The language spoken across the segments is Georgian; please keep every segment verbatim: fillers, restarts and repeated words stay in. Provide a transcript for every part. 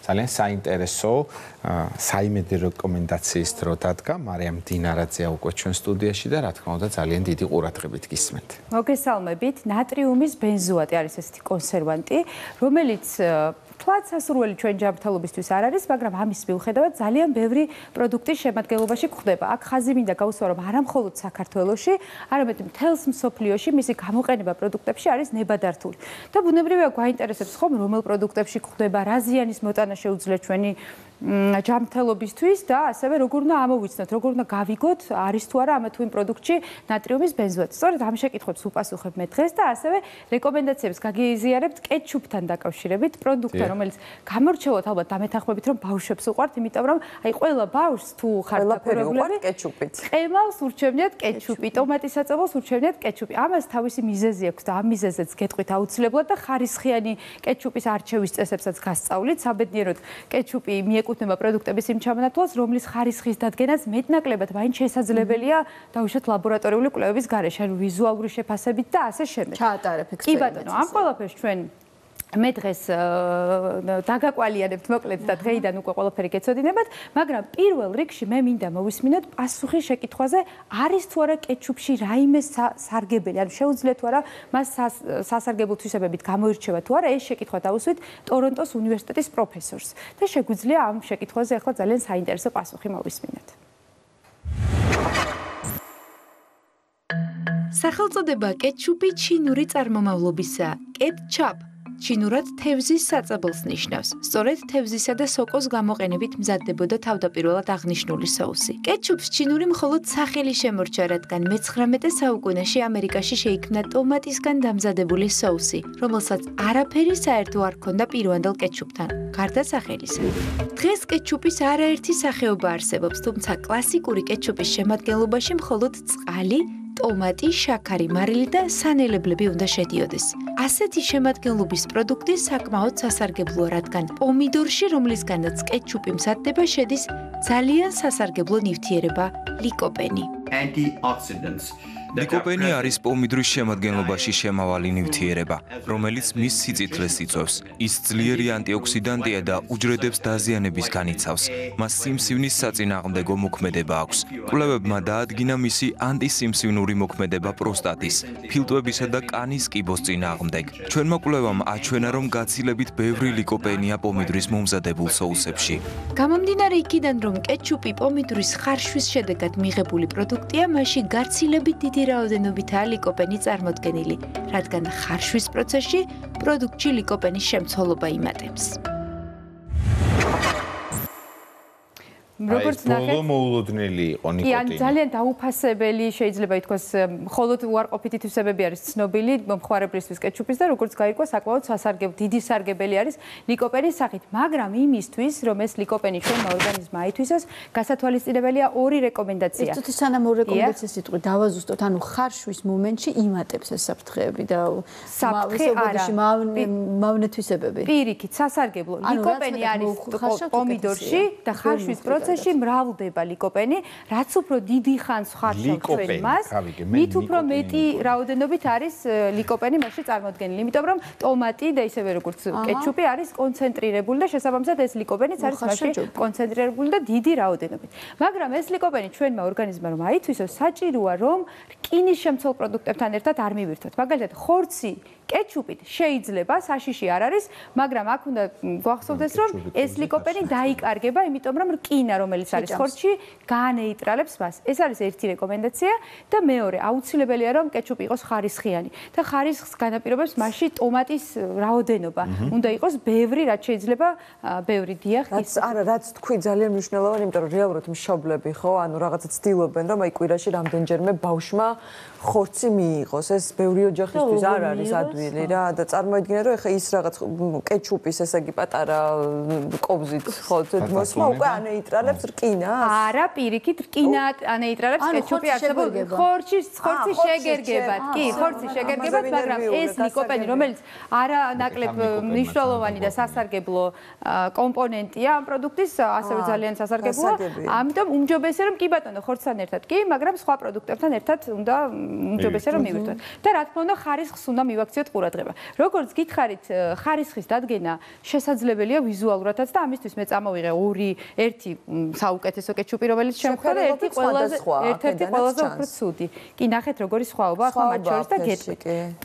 ძალიან საინტერესო საიმედო რეკომენდაციის დრო დადგა. მარიამ დინარაძეა უკვე ჩვენ სტუდიაში და რა თქმა უნდა ძალიან დიდი ყურადღებით გისმენთ. მოგესალმებით. ნატრიუმის ბენზოატი არის ესეთი კონსერვანტი, რომელიც თვაც სასურველი ჩვენ ჯანმრთელობისთვის არ არის, მაგრამ ამის მიუხედავად ძალიან ბევრი პროდუქტის შემადგენლობაში გვხვდება. აქ ხაზი მინდა გავუსვა, რომ არა მხოლოდ საქართველოში, არამედ მთელს მსოფლიოში მისი გამოყენება პროდუქტებში არის ნებადართული. და ბუნებრივია გვაინტერესებს ხომ რომელ პროდუქტებში გვხვდება, რა ზიანის მოტანა შეუძლია ჩვენი ჯანმრთელობისთვის და ასევე როგორ უნდა ამოვიცნოთ, როგორ უნდა გავიგოთ, არის თუ არა ამ თუ იმ პროდუქტში ნატრიუმის ბენზოატი. სწორედ ამ შეკითხვებს ვუპასუხებ მე დღეს და ასევე რეკომენდაციებს გაგიზიარებთ კეჩუპთან დაკავშირებით, პროდუქტთან, რომელიც გამორჩეულად ალბათ დამეთანხმებით, რომ ბავშვებს უყვართ, იმიტომ რომ აი ყველა ბავშვს თუ ხარ დაკურებული კეჩუპით. ყემალს ურჩევნიათ კეჩუპი, ტომატის საწვავს ურჩევნიათ კეჩუპი. ამას თავისი მიზეზი აქვს და ამ მიზეზებს გეტყვით აუცილებლად და ხარისხიანი კეჩუპის არჩევის წესებსაც გასწავლით. საბედნიეროდ კეჩუპი მიეკუთვნება პროდუქტების იმ ჩამონათვალს, რომლის ხარისხის დადგენაც მეტნაკლებად მაინც შესაძლებელია დაუშვათ ლაბორატორიული კვლევების გარეშე, ანუ ვიზუალური შეფასებით და ასე შემდეგ. ჩაატარებ ექსპერიმენტს. კი ბატონო, ამ ყველაფერს ჩვენ მე დღეს დაგაკვალიანებთ მოკლედ და დღეიდან უკვე ყველაფერი გეცოდინებათ, მაგრამ პირველ რიგში მე მინდა მოვისმინოთ პასუხი შეკითხვაზე, არის თუ არა კეჩუპში რაიმე სარგებელი, ანუ შეუძლია თუ არა მას სასარგებლო თვისებებით გამოირჩევა თუ არა, ეს შეკითხვა დავუსვით ტორონტოს უნივერსიტეტის პროფესორს და შეგვიძლია ამ შეკითხვაზე ახლა ძალიან საინტერესო პასუხი მოვისმინოთ. სახელწოდება კეჩუპი ჩინური წარმომავლობისაა, კეტჩაპ. ჩინურად თევზის საწაბელს ნიშნავს. სწორედ თევზისა და სოკოს გამოყენებით მზადდებოდა თავდაპირველად აღნიშნული соуსი. კეჩუპს ჩინური მხოლოდ სახელი შემორჩა, რადგან მეცხრამეტე საუკუნეში ამერიკაში შეიქმნა ტომატისგან დამზადებული соуსი, რომელსაც არაფერი საერთო არ ჰქონდა პირვანდელ კეჩუპთან, გარდა სახელისა. დღეს კეჩუპის არაერთი სახეობა არსებობს, თუმცა კლასიკური კეჩუპის შემადგენლობაში მხოლოდ წყალი, ტომატი, შაქარი, მარილი და სანელებლები უნდა შედიოდეს. ასეთი შემადგენლობის პროდუქტი საკმაოდ სასარგებლოა, რადგან პომიდორში, რომლისგანაც კეჩუპი მზადდება, შედის ძალიან სასარგებლო ნივთიერება ლიკოპენი. ლიკოპენი არის პომიდორის შემადგენლობაში შემავალი ნივთიერება, რომელიც მის სიწითლეს იწვევს. ის ძლიერი ანტიოქსიდანტია და უჯრედებს დაზიანების განიცავს. მას სიმსივნის საწინააღმდეგო მოქმედება აქვს. კვლევებმა დაადგინა მისი ანტისიმსივნური მოქმედება პროსტატის, ფილტვებისა და კანის კიბოს წინააღმდეგ. ჩვენმა კვლევამ აჩვენა, რომ გაცილებით ბევრი ლიკოპენია პომიდორის მომზადებულ соусებში. გამომდინარე იქიდან, რომ კეჩუპი პომიდორის ხარშვის შედეგად მიღებული პროდუქტია, მასში გაცილებით დიდი რაოდენობითაა ლიკოპენი წარმოდგენილი, რადგან ხარშვის პროცესში პროდუქტში ლიკოპენის შემცველობა იმატებს. როგორც ნახეთ, ბოლო მოულოდნელი იყო ნიკოტინი. კი, ან ძალიან დაუფასებელი შეიძლება ითქვას, მხოლოდ უარყოფითი თვისებები არის ცნობილი მომხმარებლისთვის კეჩუპის და როგორც გაირკვა, საკმაოდ სასარგებლო, დიდი სარგებელი არის ლიკოპენის სახით, მაგრამ იმისთვის, რომ ეს ლიკოპენი ჩვენმა ორგანიზმმა აითვისოს, გასათვალისწინებელია ორი რეკომენდაცია. ერთ სანამ ორი რეკომენდაციის სიტყვით დავაზუსტოთ, ანუ ხარშვის მომენტში იმატებს ეს საფრთხეები და საფრთხე არა, მავნე თვისებები. პირიქით, სასარგებლო. ლიკოპენი არის პომიდორში და ხარშვის პროცესში პროცესში მრავლდება ლიკოპენი, რაც უფრო დიდი ხანს ხარშავს ჩვენ მას, მით უფრო მეტი რაოდენობით არის ლიკოპენი მასში წარმოდგენილი. იმიტომ რომ ტომატი და ისევე როგორც კეჩუპი არის კონცენტრირებული და შესაბამისად ეს ლიკოპენიც არის მასში კონცენტრირებული და დიდი რაოდენობით. მაგრამ ეს ლიკოპენი ჩვენმა ორგანიზმმა რომ აითვისოს, საჭიროა რომ რკინის შემცველ პროდუქტებთან ერთად არ მივირთოთ. მაგალითად, ხორცი კეჩუპით შეიძლება, საშიში არ არის, მაგრამ აქ უნდა გვახსოვდეს, რომ ეს ლიკოპენი დაიკარგება, იმიტომ რომ რკინა რომელიც არის ხორცში, გაანეიტრალებს მას. ეს არის ერთი რეკომენდაცია და მეორე, აუცილებელია რომ კეჩუპი იყოს ხარისხიანი და ხარისხს განაპირობებს მასში ტომატის რაოდენობა. უნდა იყოს ბევრი, რაც შეიძლება ბევრი დიახ. არა, რაც თქვი ძალიან მნიშვნელოვანი, იმიტომ რომ რეალურად მშობლები ხო, ანუ რაღაცა ცდილობენ, რომ აი კვირაში რამდენჯერმე ბავშვმა ხორცი მიიღოს. ეს ბევრი ოჯახისთვის არ არის ადვილი რა და წარმოიდგინე რომ ეხა ის რაღაც კეჩუპის ესე იგი პატარა კობზით ხო მოსმა უკვე ანეიტრა ნეიტრალებს რკინას? არა, პირიქით რკინა ანეიტრალებს კეჩუპი არსებობს. ხორცი, ხორცი შეგერგებათ. კი, ხორცი შეგერგებათ, მაგრამ ეს ლიკოპენი, რომელიც არა ნაკლებ მნიშვნელოვანი და სასარგებლო კომპონენტია ამ პროდუქტის, ასევე ძალიან სასარგებლოა. ამიტომ უმჯობესია რომ კი ბატონო, ხორცთან ერთად კი, მაგრამ სხვა პროდუქტებთან ერთად უნდა უმჯობესია რომ მივირთვათ. და რა თქმა უნდა, ხარისხს უნდა მივაქციოთ ყურადღება. როგორც გითხარით, ხარისხის დადგენა შესაძლებელია ვიზუალურადაც და ამისთვის მე წამოვიღე ორი, ერთი საუკეთესო კეჩუპი, რომელიც შემხვდა, ერთი ყველაზე ერთ-ერთი ყველაზე უფრო ცუდი. კი, ნახეთ როგორი სხვაობა ახლა მათ შორის და გეტყვით.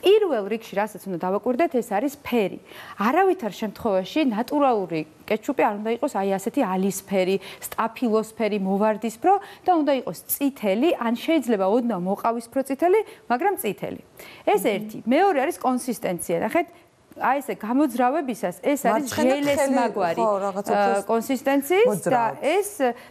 პირველ რიგში რასაც უნდა დავაკვირდეთ, ეს არის ფერი. არავითარ შემთხვევაში ნატურალური კეჩუპი არ უნდა იყოს აი ასეთი ალისფერი, სტაფილოსფერი, მოვარდისფრო და უნდა იყოს წითელი, ან შეიძლება ოდნავ მოყავისფრო წითელი, მაგრამ წითელი. ეს ერთი. მეორე არის კონსისტენცია. ნახეთ, აი ესე გამოძრავებისას ეს არის ჟელესმაგვარი კონსისტენციის და ეს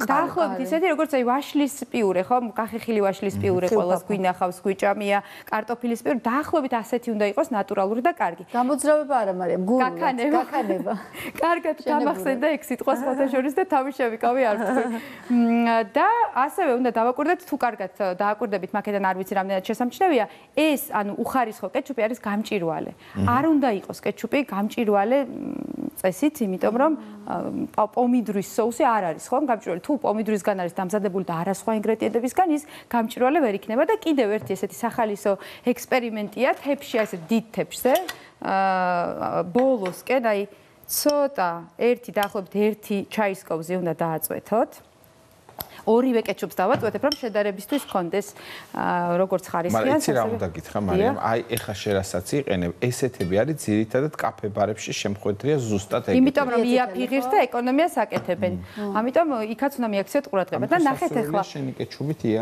დაახლოებით ისეთი როგორც აი ვაშლის პიურე, ხო? გახეხილი ვაშლის პიურე ყველას გვინახავს, გვიჭამია, კარტოფილის პიურე, დაახლოებით ასეთი უნდა იყოს ნატურალური და კარგი. გამოძრავება არა, მარიამ, გულობა, გაქანება. კარგად გამახსენდა ეგ სიტყვა სხვათა შორის და თავი შევიკავი არ ვთქვი. და ასევე უნდა დავაკვირდეთ, თუ კარგად დააკვირდებით, მაგედან არ ვიცი რამდენად შესამჩნევია, ეს ანუ უხარისხო კეჩუპი არის გამჭვირვალე. არ უნდა იყოს კეჩუპი გამჭვირვალე წესით, იმიტომ რომ პომიდრის соуსი არ არის, ხო? გამჭვირვალე თუ პომიდრისგან არის დამზადებული და არა სხვა ინგრედიენტებისგან, ის გამჭვირვალე ვერ იქნება და კიდევ ერთი ესეთი სახალისო ექსპერიმენტია თეფში, ასე დიდ თეფშზე. აა ბოლოსკენ, აი ცოტა ერთი დაახლოებით ერთი ჩაის კოვზი უნდა დააწვეთოთ. ორივე კეჩუპს დავაწვეთებ, რომ შედარებისთვის კონდეს როგორც ხარისხიან. მაგრამ იცი რა უნდა გითხრა, მარიამ, აი ეხა შერასაც იყენებ, ესეთები არის ძირითადად კაფე ბარებში შემხვედრია ზუსტად ეგეთი. იმიტომ რომ იაფიღირს და ეკონომიას აკეთებენ. ამიტომ იქაც უნდა მიაქციოთ ყურადღება და ნახეთ ეხლა. შენი კეჩუპით ია.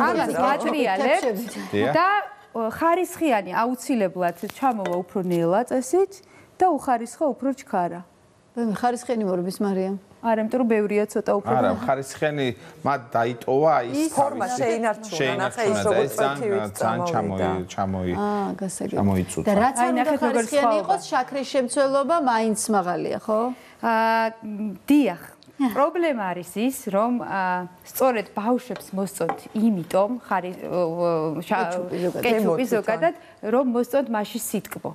ამას ვატრიალებთ და ხარისხიანი აუცილებლად ჩამოვა უფრო ნელა წესით და უხარისხო უფრო ჩქარა. ხარისხიანი მორბის მარიამ. არა, იმიტომ რომ ბევრია ცოტა უფრო. არა, ხარისხიანი მათ დაიტოვა ის ფორმა შეინარჩუნა, ნახე ის როგორც პათივით წამოვიდა. ჩამოი. აა, გასაგებია. ჩამოიწუდა. და რაც არ უნდა ხარისხიანი იყოს, შაქრის შემცველობა მაინც მაღალია, ხო? აა, დიახ. პრობლემა არის ის, რომ სწორედ ბავშვებს მოსწონთ, იმიტომ ხარი კეჩუპი ზოგადად, რომ მოსწონთ მასში სიტკბო.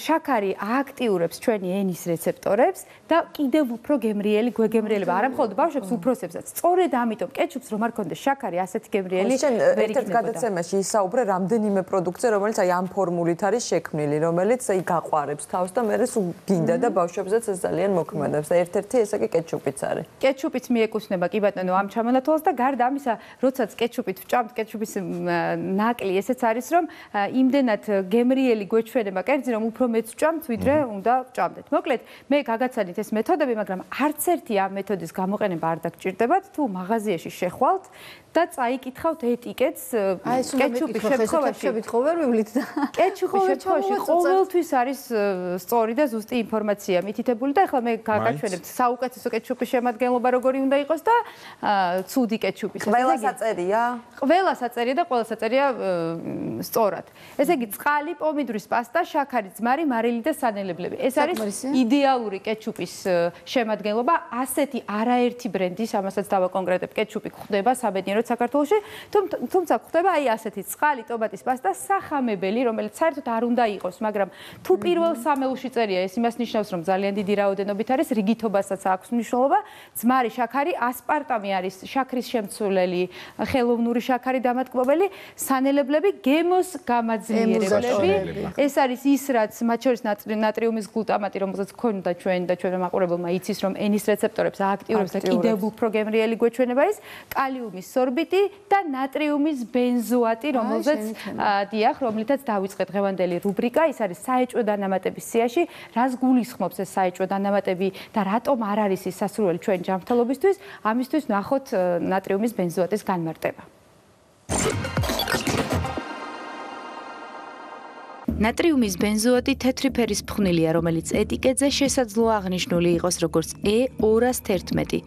შაქარი ააქტიურებს ჩვენი ენის რეცეპტორებს და კიდევ უფრო გემრიელი გვეგემრიელება. არა მხოლოდ ბავშვებს, უფროსებსაც. სწორედ ამიტომ კეჩუპს რომ არ ქონდეს შაქარი, ასეთი გემრიელი ვერ იქნებოდა. ერთ გადაცემაში ისაუბრე რამდენიმე პროდუქტზე, რომელიც აი ამ ფორმულით არის შექმნილი, რომელიც აი გაყვარებს თავს და მე სულ გინდა და ბავშვებსაც ეს ძალიან მოქმედებს. და ერთ-ერთი ესე კი კეჩუპიც არის. კეჩუპიც მიეკუთვნება კი ბატონო ამ ჩამონათვალს და გარდა ამისა, როდესაც კეჩუპით ვჭამთ, კეჩუპის ნაკლი ესეც არის, რომ იმდენად გემრიელი გვეჩვენება კერძი, რომ უფრო მეც ვჭამთ, ვიდრე უნდა ვჭამდეთ. მოკლედ, მე გაგაცანით ეს მეთოდები, მაგრამ არც ერთი ამ მეთოდის გამოყენება არ დაგჭირდებათ, თუ მაღაზიაში შეხვალთ და წაიკითხავთ ეტიკეტს კეჩუპის შემთხვევაში. ხო ვერ ვიმლით და კეჩუპის შემთხვევაში ყოველთვის არის სწორი და ზუსტი ინფორმაცია მითითებული და ახლა მე გაგაჩვენებთ საუკეთესო კეჩუპის შემადგენლობა როგორი უნდა იყოს და ცუდი კეჩუპის. ყველა საწერია? ყველა საწერია და ყველა საწერია სწორად. ესე იგი, წყალი, პომიდრის პასტა, შაქარი, ძმარი, მარილი და სანელებლები. ეს არის იდეალური კეჩუპის შემადგენლობა. ასეთი არაერთი ბრენდის, ამასაც დავაკონკრეტებ, კეჩუპი გვხვდება საბედნიეროდ საქართველოში, თუმცა გვხვდება აი ასეთი წყალი, ტომატის პასტა, სახამებელი, რომელიც საერთოდ არ უნდა იყოს, მაგრამ თუ პირველ სამეულში წერია, ეს იმას ნიშნავს, რომ ძალიან დიდი რაოდენობით არის, რიგითობასაც აქვს მნიშვნელობა. ძმარი, შაქარი, ასპარტამი არის შაქრის შემცვლელი, ხელოვნური შაქარი დამატკბობელი, სანელებლები, გემოს გამაძლიერებელი. ეს არის ის, რაც მათ შორის ნატრიუმის გლუტამატი, რომელზეც გქონდა ჩვენ და ჩვენმა მაყურებელმა იცის, რომ ენის რეცეპტორებს ააქტიურებს და კიდევ უფრო გემრიელი გვეჩვენება ის, კალიუმის სორბიტი და ნატრიუმის ბენზოატი, რომელზეც დიახ, რომლითაც დავიწყეთ დღევანდელი რუბრიკა, ის არის საეჭვო დანამატების სიაში, რას გულისხმობს ეს საეჭვო დანამატები და რატომ არ არის ის სასურველი ჩვენ ჯანმრთელობისთვის, ამისთვის ნახოთ ნატრიუმის ბენზოატის განმარტება. ნატრიუმის ბენზოატი თეთრი ფერის ფხვნილია, რომელიც ეტიკეტზე შესაძლოა აღნიშნული იყოს როგორც E ორასი ერთმეტი.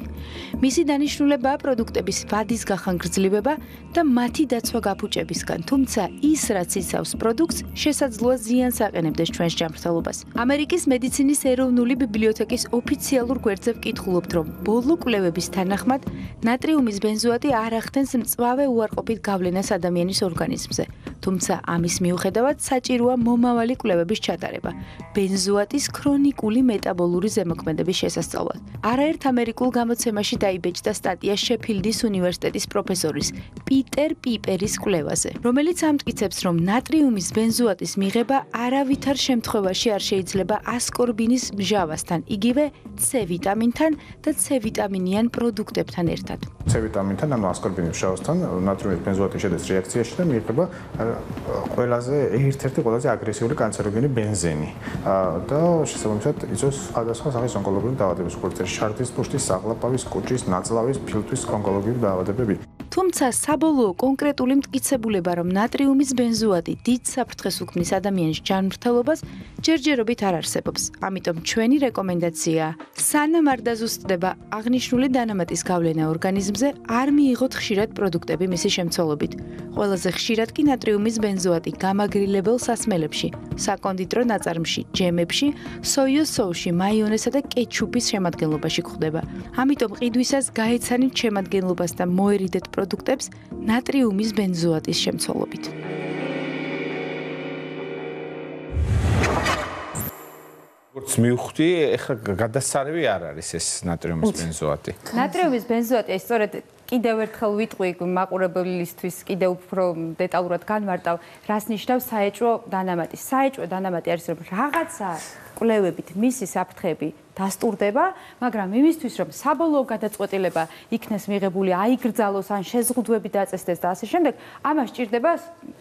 მისი დანიშნულებაა პროდუქტების ვადის გახანგრძლივება და მათი დაცვა გაფუჭებისგან, თუმცა ის, რაც იცავს პროდუქტს, შესაძლოა ზიანს აყენებდეს ჩვენს ჯანმრთელობას. ამერიკის მედიცინის ეროვნული ბიბლიოთეკის ოფიციალურ გვერდზე ვკითხულობთ, რომ ბოლო კვლევების თანახმად ნატრიუმის ბენზოატი არ ახდენს მწვავე უარყოფით გავლენას ადამიანის ორგანიზმზე. თუმცა ამის მიუხედავად საჭიროა მომავალი კვლევების ჩატარება ბენზოატის ქრონიკული მეტაბოლური ზემოქმედების შესასწავლად. არაერთ ამერიკულ გამოცემაში დაიბეჭდა სტატია შეფილდის უნივერსიტეტის პროფესორის პიტერ პიპერის კვლევაზე, რომელიც ამტკიცებს, რომ ნატრიუმის ბენზოატის მიღება არავითარ შემთხვევაში არ შეიძლება ასკორბინის მჟავასთან, იგივე C ვიტამინთან და C ვიტამინიან პროდუქტებთან ერთად. C ვიტამინთან, ანუ ასკორბინის მჟავასთან ნატრიუმის ბენზოატი შედის რეაქციაში და მიიღება ყველაზე ერთ-ერთი ყველაზე აგრესიული კანცეროგენი ბენზენი და შესაბამისად იწვევს სხვადასხვა სახის ონკოლოგიური დაავადებებს, როგორც შარდის ფუშტის, საღლაპავის, კუჭის, ნაწლავის, ფილტვის ონკოლოგიური დაავადებები. თუმცა საბოლოო კონკრეტული მტკიცებულება, რომ ნატრიუმის ბენზოატი დიდ საფრთხეს უქმნის ადამიანის ჯანმრთელობას, ჯერჯერობით არ არსებობს. ამიტომ ჩვენი რეკომენდაციაა, სანამ არ დაზუსტდება აღნიშნული დანამატის გავლენა ორგანიზმზე, არ მიიღოთ ხშირად პროდუქტები მისი შემცველობით. ყველაზე ხშირად კი ნატრიუმის ბენზოატი გამაგრილებელ სასმელებში, საკონდიტრო ნაწარმში, ჯემებში, სოიოს სოუსში, მაიონესა და კეჩუპის შემადგენლობაში გვხვდება. ამიტომ ყიდვისას გაეცანით შემადგენლობას და მოერიდეთ პროდუქტებს ნატრიუმის ბენზოატის შემცველობით. როგორც მივხვდი, ეხლა გადასარევი არ არის ეს ნატრიუმის ბენზოატი. ნატრიუმის ბენზოატი ეს სწორედ კიდევ ერთხელ ვიტყვი მაყურებლისთვის კიდევ უფრო დეტალურად განმარტავ, რას ნიშნავს საეჭვო დანამატი. საეჭვო დანამატი არის, რომ რაღაცა კვლევებით მისი საფრთხეები დასტურდება, მაგრამ იმისთვის, რომ საბოლოო გადაწყვეტილება იქნეს მიღებული, აიგრძალოს ან შეზღუდვები დაწესდეს და ასე შემდეგ, ამას სჭირდება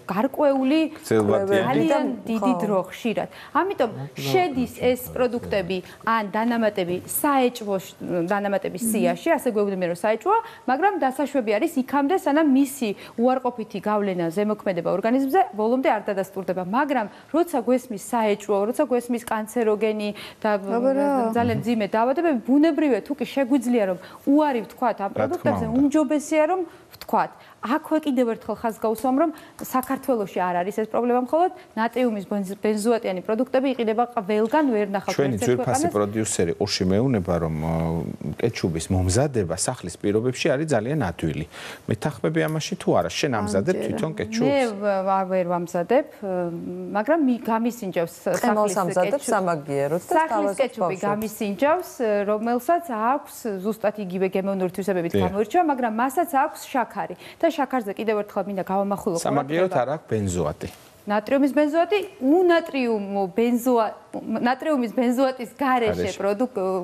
გარკვეული ძალიან დიდი დრო ხშირად. ამიტომ შედის ეს პროდუქტები ან დანამატები საეჭვო დანამატების სიაში, ასე გვეუბნებიან, რომ საეჭვოა, მაგრამ დასაშვები არის იქამდე, სანამ მისი უარყოფითი გავლენა ზემოქმედება ორგანიზმზე ბოლომდე არ დადასტურდება, მაგრამ როცა გვესმის საეჭვო, როცა გვესმის კანცეროგენი და ძალიან ძიმე დაავადებები, ბუნებრივია თუ კი შეგვიძლია რომ უარი ვთქვათ ამ პროდუქტებზე, უმჯობესია რომ ვთქვათ. აქვე კიდევ ერთხელ ხაზს გავუსვამ, რომ საქართველოში არ არის ეს პრობლემა, მხოლოდ ნატრიუმის ბენზოატიანი პროდუქტები იყიდება ყველგან, ვერ ნახავთ ჩვენი ძვირფასი პროდიუსერი ყურში მეუბნება, რომ კეჩუპის მომზადება სახლის პირობებში არის ძალიან ადვილი. მეთანხმები ამაში თუ არა? შენ ამზადებ თვითონ კეჩუპს? მე ვერ ვამზადებ, მაგრამ გამისინჯავს სახლის კეჩუპი სამაგიეროდ და სახლის კეჩუპი გამისინჯავს, რომელსაც აქვს ზუსტად იგივე გემოვნური თვისებებით გამოირჩევა, მაგრამ მასაც აქვს შაქარი. და შაქარზე კიდევ ერთხელ მინდა გავამახვილო. სამაგიეროდ არ აქვს ბენზოატი. ნატრიუმის ბენზოატი, უნატრიუმო ბენზოატი, ნატრიუმის ბენზოატის გარეშე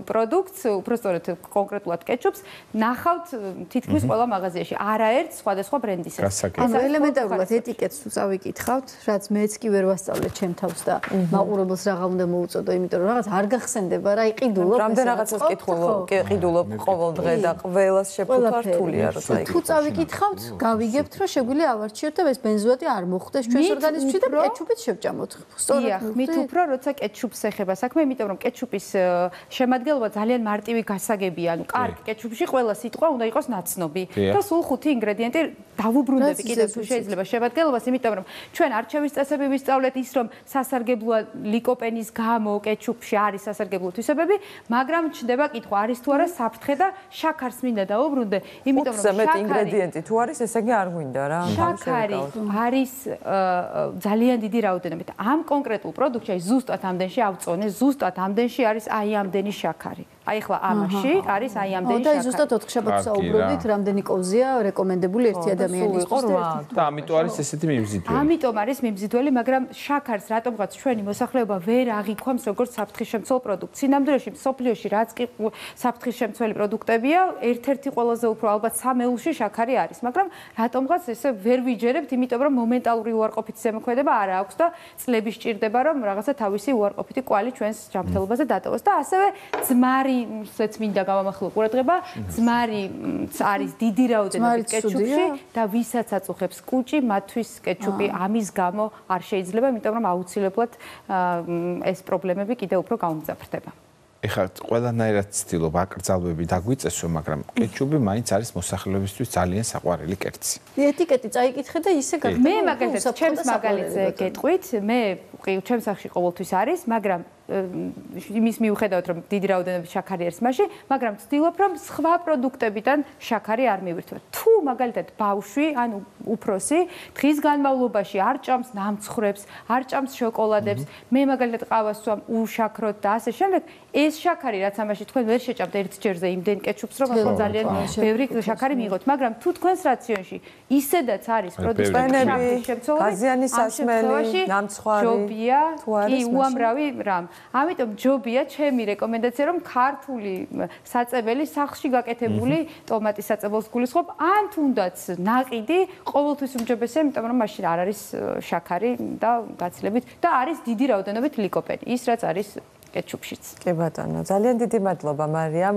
პროდუქტს, უბრალოდ კონკრეტულად კეჩუპს, ნახავთ თითქმის ყველა მაღაზიაში, არაერთ სხვადასხვა ბრენდისა. ანუ ელემენტარულად ეტიკეტს თუ წავიკითხავთ, რაც მეც კი ვერ ვასწავლე ჩემ თავს და მაყურებელს რა უნდა მოუწოდო, იმიტომ რომ რაღაც არ გახსენდება რა, იყიდულობ. რამდენ რაღაცას კითხულობ, ყიდულობ ყოველ დღე და ყველას შეფუთვა რთულია როცა იქ. თუ წავიკითხავთ, გავიგებთ რომ შეგვიძლია ავარჩიოთ და ეს ბენზოატი არ მოხვდეს ჩვენს ორგანიზმში და კეჩუპით შევჭამოთ. სწორედ, მით უფრო როცა კეჩუპს ეხება საქმე, იმიტომ რომ კეჩუპის შემადგენლობა ძალიან მარტივი გასაგებია, ანუ კარგი კეჩუპში ყველა სიტყვა უნდა იყოს ნაცნობი და სულ ხუთი ინგრედიენტი დავუბრუნდები კიდევ თუ შეიძლება შემადგენლობას, იმიტომ რომ ჩვენ არჩევის წესები ვისწავლეთ ის, რომ სასარგებლოა ლიკოპენის გამო კეჩუპში არის სასარგებლო თვისებები, მაგრამ ჩნდება კითხვა, არის თუ არა საფრთხე და შაქარს მინდა დავუბრუნდე, იმიტომ რომ შაქარი ინგრედიენტი თუ არის, ესე იგი არ გვინდა რა. შაქარი არის ძალიან დიდი რაოდენობით. ამ კონკრეტულ პროდუქტში ზუსტად ამდენში ავწონე, ზუსტად ამდენში არის აი ამდენი შაქარი. აი ახლა ამაში არის აი ამდენი შაქარი. და ზუსტად ოთხ შაბათს საუბრობდით, რამდენი კოვზია რეკომენდებული ერთი ადამიანისთვის. და ამიტომ არის ესეთი მიმზიდველი. ამიტომ არის მიმზიდველი, მაგრამ შაქარს რატომღაც ჩვენი მოსახლეობა ვერ აღიქვამს როგორც საფრთხისშემცველ პროდუქტს. სინამდვილეში მსოფლიოში რაც კი საფრთხისშემცველი პროდუქტებია, ერთ-ერთი ყველაზე უფრო ალბათ სამეულში შაქარი არის, მაგრამ რატომღაც ესე ვერ ვიჯერებთ, იმიტომ რომ მომენტალური უარყოფითი ზემოქმედება არ აქვს და წლები სჭირდება, რომ რაღაცა თავისი უარყოფითი კვალი ჩვენს ჯანმრთელობაზე დატოვოს და ასევე ძმარი ძმარისაც მინდა გავამახვილო ყურადღება, ძმარი არის დიდი რაოდენობით კეჩუპში და ვისაც აწუხებს კუჭი, მათთვის კეჩუპი ამის გამო არ შეიძლება, იმიტომ რომ აუცილებლად ეს პრობლემები კიდევ უფრო გაუმძაფრდება. ეხლა ყველანაირად ცდილობ აკრძალვები დაგვიწესო, მაგრამ კეჩუპი მაინც არის მოსახლეობისთვის ძალიან საყვარელი კერძი. ეტიკეტი წაიკითხე და ისე გაკეთე. მე მაგალითად ჩემს მაგალითზე გეტყვით, მე ჩემს სახში ყოველთვის არის, მაგრამ იმის მიუხედავად რომ დიდი რაოდენობით შაქარი არის მასში, მაგრამ ვცდილობ რომ სხვა პროდუქტებიდან შაქარი არ მივირთვა. თუ მაგალითად ბავშვი, ანუ უფროსი, დღის განმავლობაში არ ჭამს ნამცხრებს, არ ჭამს შოკოლადებს, მე მაგალითად ყავას ვსვამ უშაქროდ და ასე შემდეგ, ეს შაქარი რაც ამაში თქვენ ვერ შეჭამთ ერთ ჯერზე იმდენ კეჩუპს, რომ ახლა ძალიან ბევრი შაქარი მიიღოთ, მაგრამ თუ თქვენს რაციონში ისედაც არის პროდუქტების შემცველი, გაზიანი სასმელი, ნამცხვარი, ჯობია, კი უამრავი რამ. ამიტომ ჯობია ჩემი რეკომენდაცია რომ ქართული საწებელი სახლში გაკეთებული ტომატის საწებელს გულისხმობ ან თუნდაც ნაყიდი ყოველთვის უმჯობესია იმიტომ რომ მაშინ არ არის შაქარი და გაცილებით და არის დიდი რაოდენობით ლიკოპენი ის რაც არის კეჩუპშიც. კი ბატონო ძალიან დიდი მადლობა მარიამ